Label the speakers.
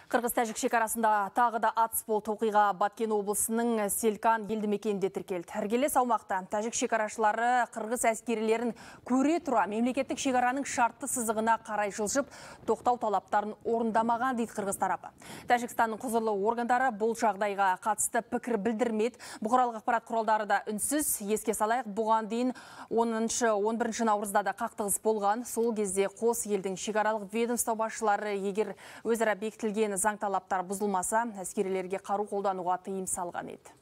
Speaker 1: Қырғыз-Тәжік шекарасында тағы да атыс болды. Оқиға Баткен облысының Селкан елді мекенінде тіркелді. Іргелес аумақта тәжік шекарашылары қырғыз әскерилерін көре тұра мемлекеттік шекараның шартты сызығына қарай жылжып, тоқтау талаптарын орындамаған дейді қырғыз тарапы. Тәжікстанның құзырлы органдары бұл жағдайға қатысты пікір білдірмеді. Бұқаралық ақпарат құралдары да үнсіз. Еске салайық, бұған дейін 10-11 наурызда да қақтығыс болған. Сол кезде қос елдің шекаралық ведомство басшылары егер өзара бекітілген заң талаптар бұзылмаса, әскерилерге қару қолдануға тыйым салған еді.